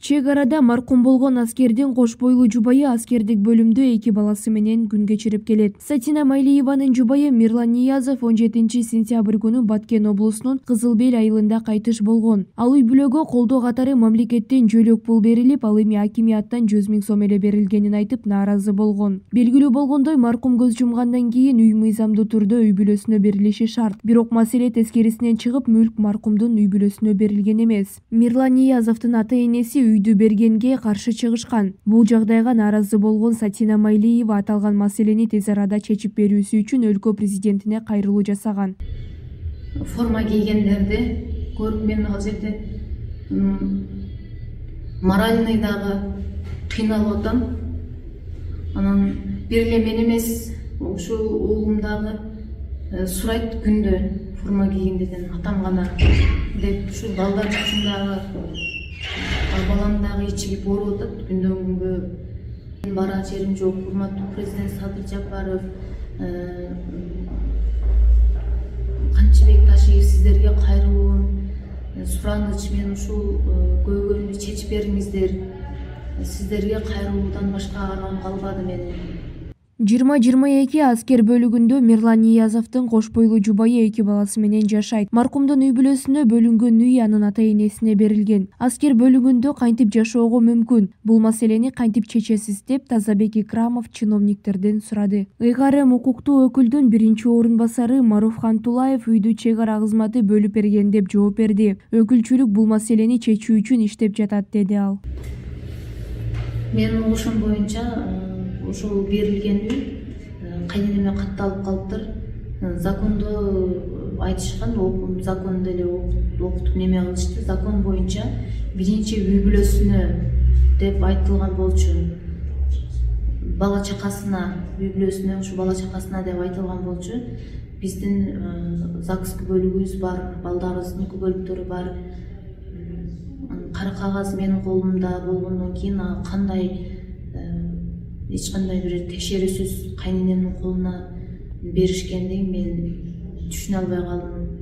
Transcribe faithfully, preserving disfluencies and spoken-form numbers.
Чек арада маркум болгон аскердин кош бойлуу жубайы аскердик бөлүмдө эки баласы менен күн кечирип келет. Сатина Майлиеванын жубайы Мирлан Ниязов он жетинчи сентябрь күнү Баткен облусунун Кызыл Бел айылында кайтыш болгон. Ал үй бүлөгө колдоо катары мамлекеттен жөлөк пул берилип, ал эми акимияттан жүз миң сом эле берилгенин айтып нааразы болгон. Белгилүү болгондой, маркум көз жумгандан кийин үй мыйзамдуу түрдө үй бүлөсүнө берилиши шарт. Бирок маселе тескерисинен чыгып, мүлк маркумдун үй бүлөсүнө берилген эмес. Мирлан Ниязовдун ата-энеси үйдү бергенге каршы чыгышкан. Бул жагдайга нааразы болгон Сатина Майлиева аталган маселени тез арада чечип берүүсү үчүн өлкө президентине кайрылуу жасаган. Форма кийгендерди көрүп мен ал жерде моральный дагы кыйналып атам. Анан бир эле мен эмес, ушу уулум дагы сурайт күндө форма кийгендерден, атам гана деп ушу балдар үчүн дагы балам дагы ичип ооруп атат күндөн күнгө. Барар жерим жок. Урматтуу президент Садыр Жапаров, Канчыбек Ташиев, сиздерге кайрылуум, сураныч, мен ушул көйгөйүмдү чечип бериңиздер. Сиздерге кайрылуудан башка аргам калбады менин. жыйырма жыйырма эки аскер бөлүгүндө Мирлан Ниязовдун кош бойлуу жубайы эки баласы менен жашайт. Маркумдун үй бүлөсүнө бөлүнгөн үй анын ата-энесине берилген. Аскер бөлүгүндө кантип жашоого мүмкүн? Бул маселени кантип чечесиз деп Тазабек Икрамов чиновниктерден сурады. ЫКРМ укуктуу өкүлдүн биринчи орун басары Маруфхан Тулаев үйдү чек ара кызматы бөлүп берген деп жооп берди. Өкүлчүлүк бул маселени чечүү үчүн иштеп жатат, деди ал. Менин угушум боюнча ушул берилген үй кайненеме катталып калыптыр. Закондо айтышкан, закон деле окутуп неме кылышты. Закон боюнча биринчи үй бүлөсүнө деп айтылган болчу. Бала чакасына, үй бүлөсүнө, ушу бала чакасына деп айтылган болчу. Биздин ЗАГС бөлүгүбүз бар, балдарыбыздын бөлүктөрү бар. Кара кагаз менин колумда болгондон кийин кандай эч кандай бир текшерүүсүз кайненемдин колуна беришкендигин мен түшүнө албай калдым.